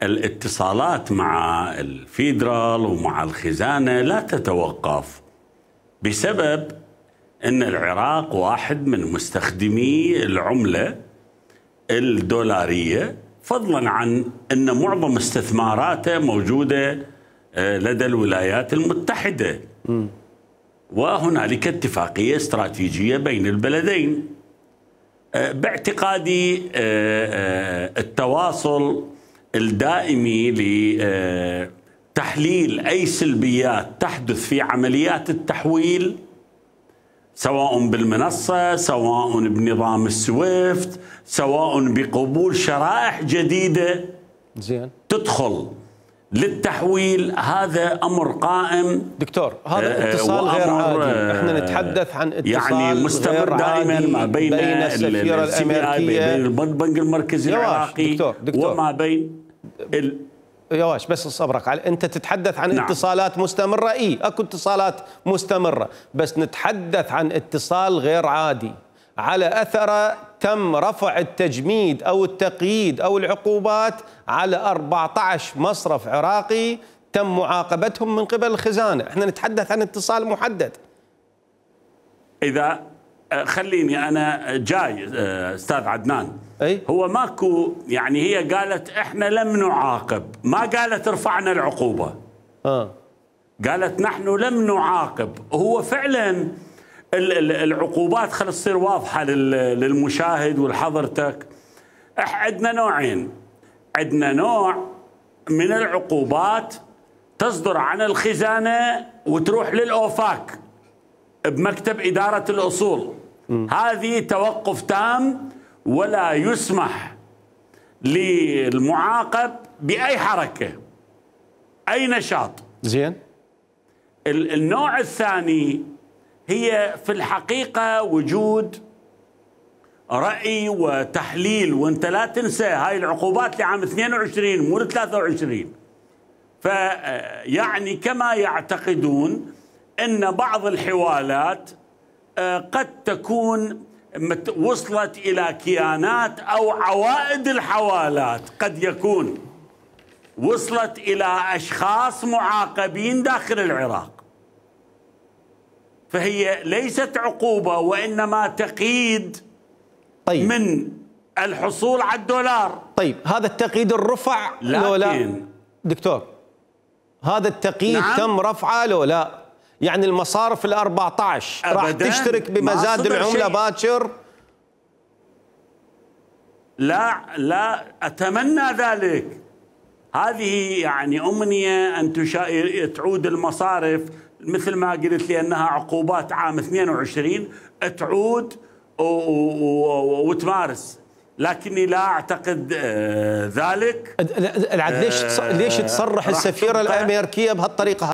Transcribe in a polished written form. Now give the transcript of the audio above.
الاتصالات مع الفيدرال ومع الخزانة لا تتوقف بسبب أن العراق واحد من مستخدمي العملة الدولارية، فضلا عن أن معظم استثماراته موجودة لدى الولايات المتحدة. وهنالك اتفاقية استراتيجية بين البلدين. باعتقادي التواصل الدائمي لتحليل أي سلبيات تحدث في عمليات التحويل، سواء بالمنصة، سواء بنظام السويفت، سواء بقبول شرائح جديدة تدخل للتحويل، هذا أمر قائم. دكتور، هذا اتصال غير عادي، احنا نتحدث عن اتصال يعني مستمر دائما ما بين السفيرة الأمريكية، بين البنك المركزي العراقي وما بين يواش. بس صبرك، انت تتحدث عن اتصالات مستمرة، اكو اتصالات مستمرة، بس نتحدث عن اتصال غير عادي على أثره تم رفع التجميد أو التقييد أو العقوبات على 14 مصرف عراقي تم معاقبتهم من قبل الخزانة. احنا نتحدث عن اتصال محدد. إذا خليني أنا جاي أستاذ عدنان، هو ماكو، يعني هي قالت احنا لم نعاقب، ما قالت رفعنا العقوبة. قالت نحن لم نعاقب. هو فعلا العقوبات، خلينا تصير واضحة للمشاهد ولحضرتك، عندنا نوعين. عندنا نوع من العقوبات تصدر عن الخزانة وتروح للأوفاك بمكتب إدارة الأصول، هذه توقف تام ولا يسمح للمعاقب بأي حركة أي نشاط. زين. النوع الثاني هي في الحقيقة وجود رأي وتحليل، وانت لا تنسى هاي العقوبات لعام 22 مو 23. فيعني كما يعتقدون أن بعض الحوالات قد تكون وصلت إلى كيانات، أو عوائد الحوالات قد يكون وصلت إلى أشخاص معاقبين داخل العراق. فهي ليست عقوبة وإنما تقييد من الحصول على الدولار. طيب هذا التقييد الرفع لو لا دكتور؟ هذا التقييد تم رفعه لو لا؟ يعني المصارف ال14 راح تشترك بمزاد العملة باكر؟ لا أتمنى ذلك. هذه يعني أمنية أن تعود المصارف مثل ما قلت لي أنها عقوبات عام 22 تعود وتمارس، لكني لا أعتقد ذلك. ليش تصرح السفيرة الأمريكية بهالطريقة؟